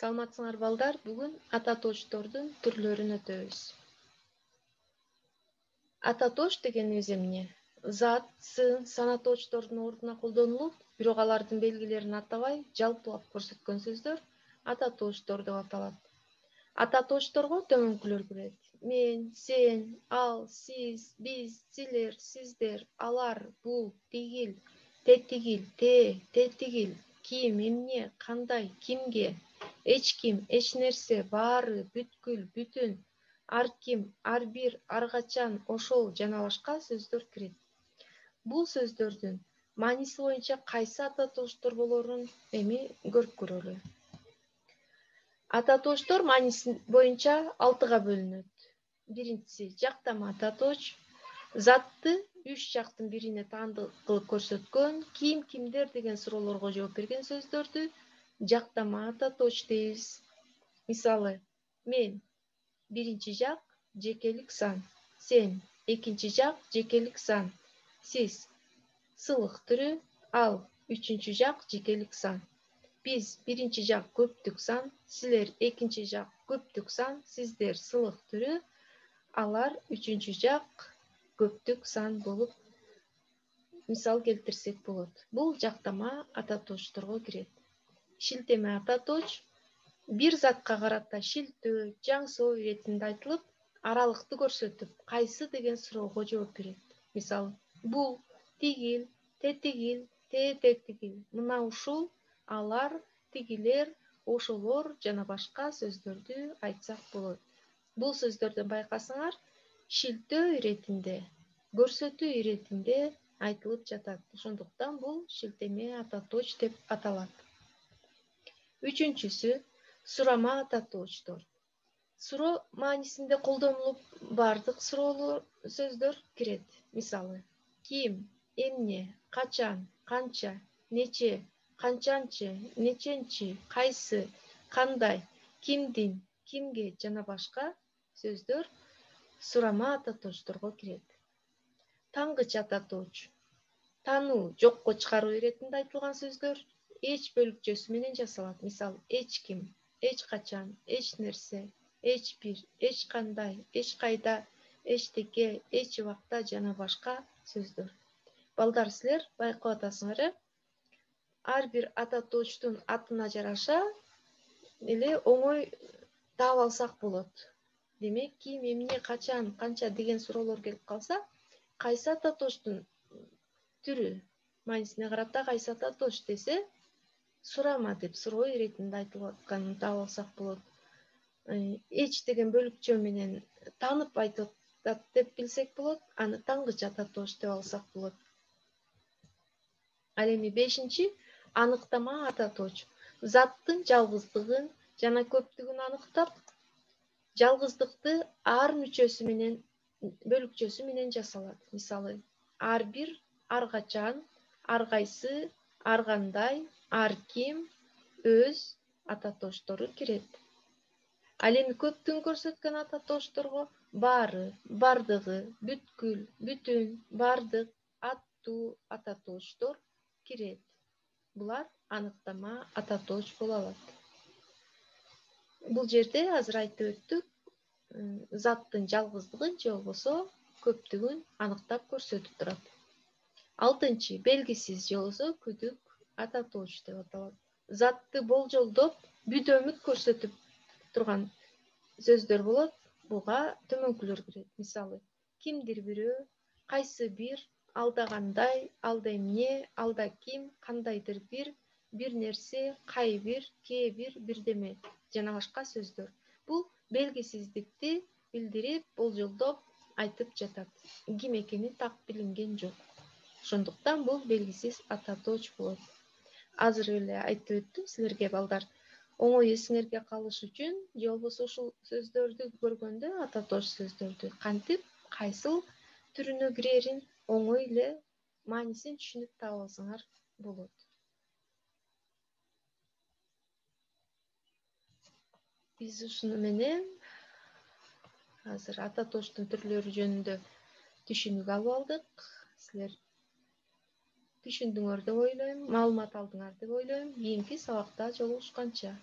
Саламатсыңар балдар, бүгүн ата точтордун түрлөрүн өтөбүз. Ата точ дегенибиз эмне? Зат, сын, сана точтордун ордуна колдонулуп, бирок алардын белгилерин атабай, жалпылап көрсөткөн сөздөр ата точтор деп аталат. Ата точторго төмөнкүлөр кирет. Мен, сен, ал, сиз, биз, силер, сиздер, алар, бул, тигил, тетигил, тетигил, ким, эмне, кандай, кимге, эч ким, эч нерсе, баары, бүткүл, бүтүн, ар ким, ар бир, ар качан, ошол жана башка сөздөр кирет. Бул сөздөрдүн мааниси боюнча кайсы ата точтор болорун эми көрүп көрөлү. Ата точтор мааниси боюнча 6га бөлүнөт. Биринчиси жактама ата точ, затты 3 жактын бирине таандык кылып көрсөткөн, ким, кимдер деген суроолорго жооп берген сөздөрдү жактама ата точ дейбиз. Мисалы, мен биринчи жак жекелик сан, сен экинчи жак жекелик сан, сиз сылык түрү, ал үчүнчү жак жекелик сан. Биз биринчи жак көптүк сан, силер экинчи жак көптүк сан, сиздер сылык түрү, алар үчүнчү жак көптүк сан болуп мисал келтирсек болот. Бул жактама ата точторго кирет. Шилтеме ата точ бир затка карата шилтөө, жаңсоо иретинде айтылып, аралыкты көрсөтүп, кайсы деген суроого жооп берет. Мисалы, бул, тигил, тетигил, тетигил, мына ушул, алар, тигилер, ошолор жана башка сөздөрдү айтсак болот. Бул сөздөрдөн байкасаңар, шилтөө иретинде, көрсөтүү иретинде айтылып жатат. Ошондуктан бул шилтеме ата точ деп аталат. Үчүнчүсү сурама ата точтор. Суроо маанисинде колдонулуп, бардык суроолор сөздөр кирет. Мисалы, ким, эмне, качан, канча, нече, канчанчы, неченчи, кайсы, кандай, кимдин, кимге жана башка сөздөр сурама ата точторго кирет. Тангыч ата точ. Таануу, жокко чыгаруу иретинде айтылган сөздөр эч бөлүкчөсү менен жасалат. Мисалы, эч ким, эч качан, эч нерсе, эч бир, эч кандай, эч кайда, эчтеке, эч убакта жана башка сөздөр. Балдар, силер байкап атасыңар, ар бир ата точтун атына жараша эле оңой таап алсак болот. Демек, ким, эмне, качан, канча деген суроолор келип калса, кайсы ата точтун түрү маанисине карата кайсы ата точ десе, сурама деп суроо иретинде айтылып атканын таап алсак болот. Эч деген бөлүкчө менен таанып айтып атат деп билсек болот, аны тангыч ата точ деп алсак болот. Ал эми 5-чи аныктама ата точ. Заттын жалгыздыгын жана көптүгүн аныктап, жалгыздыкты ар мүчөсү менен, бөлүкчөсү менен жасалат. Мисалы, ар бир, ар качан, ар кайсы, ар кандай, ар ким, өз ата точтору кирет. Ал эми көптүгүн көрсөткөн ата точторго баары, бардыгы, бүткүл, бүтүн, бардык, аттуу ата точтор кирет. Булар аныктама ата точ боло алат. Бул жерде азыр айтып өттүк, заттын жалгыздыгын же болбосо көптүгүн аныктап көрсөтүп турат. 6-чы белгисиз же болбосо күдүк ата точ деп аталат. Затты болжолдоп, бүдөмүк көрсөтүп турган сөздөр болот. Буга төмөнкүлөр кирет. Мисалы, кимдир бирөө, кайсы бир, алда кандай, алда эмне, алда ким, кандайдыр бир, бир нерсе, кай бир, кээ бир, бирдеме жана башка сөздөр. Бул белгисиздикти билдирип, болжолдоп айтып жатат. Ким экени так билинген жок. Ошондуктан бул белгисиз ата точ болот. Азыр эле айтып өттүм силерге балдар. Оңой эсиңерге калыш үчүн, же болбосо ушул сөздөрдү көргөндө ата точ сөздөрдү кантип, кайсыл түрүнө кирерин оңой эле маанисин түшүнүп таап алсаңар болот. Биз ушуну менен азыр ата точтун түрлөрү жөнүндө түшүнүк алып алдык. Силер түшүндүңөр деп ойлойм, маалымат алдыңар деп ойлойм. Кийинки сабакта жолугушканча.